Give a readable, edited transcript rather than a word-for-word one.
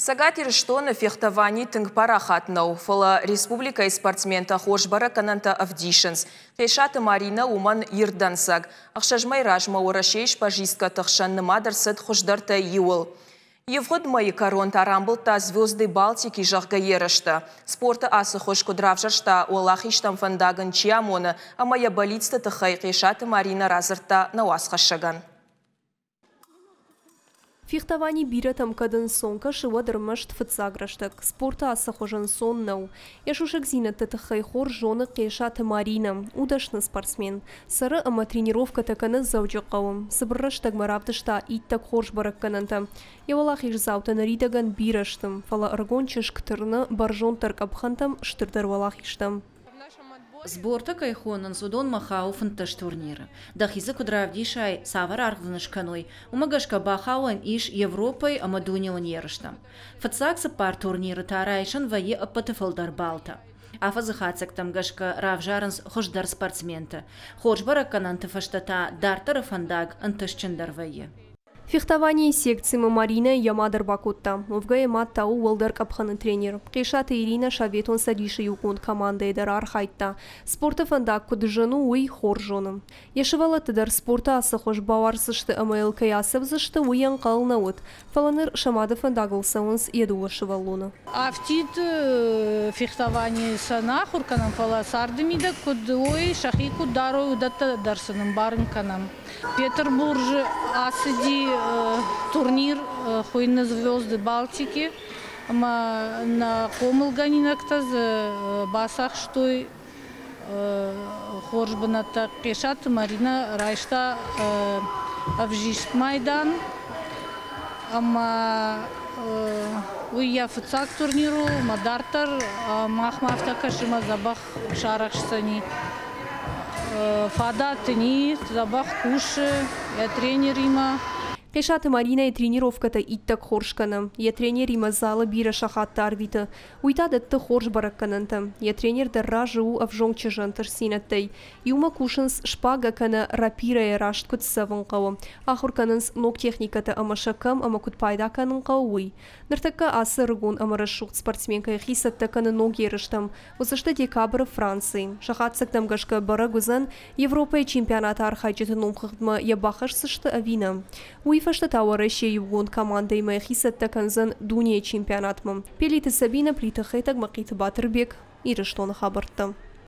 Цӕгат Ирыстоны фехтовани тынг парахат нӕу, фӕлӕ республикӕйы спортсментӕ хорз бӕрӕггӕнӕнтӕ ӕвдисынц. Хъесаты Маринӕ уымӕн ирд дӕнцӕг. 6 мӕйы размӕ Уӕрӕсейы шпажисткӕты хсӕн нымад ӕрцыд хуыздӕртӕй иуыл. Ивгъуыд мӕйы кӕрон та рамбылдта «Звезды Балтики», зӕгъгӕ, ерыстӕ. Спорты ацы хуыз куыд равзӕрста, уӕлахизтӕм фӕндаг ын чи амоны ӕмӕ йӕ бӕллицты тыххӕй Хъесаты Маринӕ радзырдта нӕ уацхӕссӕгӕн. Фехтовани бирӕтӕм кӕд ӕнцон кӕсы, уӕд ӕрмӕст фыццаг рӕстӕг. Спорты ацы хуыз ӕнцон нӕу. Йӕ сусӕгдзинӕдты тыххӕй хорз зоны Хъесаты Маринӕ. У дӕсны спортсмен. Цӕры ӕмӕ тренировкӕтӕ кӕны Дзӕуджыхъӕуы. Цыбыр рӕстӕгмӕ равдыста иттӕг хорз бӕрӕггӕнӕнтӕ. Йӕ уӕлахиздзаутӕ ныридӕгӕн бирӕ сты, фӕлӕ ӕрыгон чызг тырны бӕрзонддӕр къӕпхӕнтӕм, стырдӕр уӕлахизтӕм. Сбортӕ кӕй хонынц, уыдонмӕ хауы 15 турниры. Дӕхи дзы куыд равдисай, цавӕр аргъ дын скӕной, уымӕ гӕсгӕ бахауӕн ис Европӕйы ӕмӕ дунеон ерыстӕм. Фыццаг 4 турниры та райсӕн вӕййы ӕппӕты фылдӕр баллтӕ. Афӕдзы хатдзӕгтӕм гӕсгӕ равзарынц хуыздӕр спортсменты. Хорз бӕрӕггӕнӕнты фӕстӕ та дарддӕры фӕндаг ӕнтыстджындӕр вӕййы. Фехтованийы секцимӕ Маринӕ йӕ мад ӕрбакодта. Уӕвгӕ йӕ мад та у уӕлдӕр къӕпхӕны тренер. Хъесаты Иринӕ Советон Цӕдисы иугонд командӕйы дӕр архайдта. Спорты фӕндаг куыд зын у, уый хорз зоны. Йӕ сывӕллӕтты дӕр спорты ацы хуыз бауарздзысты ӕмӕ йыл кӕй ацӕудзысты, уый ӕнхъӕл нӕ уыд. Фӕлӕ ныр сӕ мады фӕндагыл цӕуынц йӕ дыууӕ сывӕллоны. Афтид фехтованийы сӕ нӕ ахуыр кӕнӕм, фӕлӕ царды мидӕг куыд уой, сӕхи куыд дарой, уыдӕттӕ дӕр сын ӕмбарын кӕнӕм. Петербурджы ацыди турнир, хуыйны «Звезды Балтики», ӕмӕ нӕ хъомылгӕнинӕгтӕ дзы бацахстой хорз бынӕттӕ. Хъесаты Маринӕ райста ӕвзист майдан, ӕмӕ уый йӕ фыццаг турнир у, ӕмӕ дарддӕр махмӕ афтӕ кӕсы, ӕмӕ дзӕбӕх сарӕхсдзӕни. Фадат ын и, дзӕбӕх кусы йӕ тренеримӕ. Хъесаты Маринӕйы тренировкӕтӕ иттӕг хорз кӕны. Йӕ тренеримӕ залы бирӕ сахаттӕ арвиты. Уый та дӕтты хорз бӕрӕггӕнӕнтӕ. Йӕ тренер дӕр разы у ӕвзонг чызджы ӕнтыстдзинӕдтӕй. Иумӕ кусынц шпагӕ кӕнӕ рапирӕйӕ раст куыд цӕвын хъӕуы. Ахуыр кӕнынц ног техникӕтӕ ӕмӕ сӕ кӕм ӕмӕ куыд пайда кӕнын хъӕуы, уый. Ныртӕккӕ ацы ӕрыгон ӕмӕ рӕсугъд спортсменкӕ йӕхи цӕттӕ кӕны ног ерыстӕм. Уыдзысты декабры Францийы. Сӕ хатдзӕгтӕм гӕсгӕ бӕрӕг уыдзӕн, Европӕйы чемпионаты архайджыты номхыгъдмӕ йӕ бахӕсдзысты ӕви нӕ. Уый фӕстӕ та Уӕрӕсейы иугонд командӕимӕ йӕхи цӕттӕ кӕндзӕн дунейы чемпионатмӕ. Пелиты Сабинӕ, Плиты Хетӕг, Мӕхъиты Батырбег, Ирыстоны хабӕрттӕ.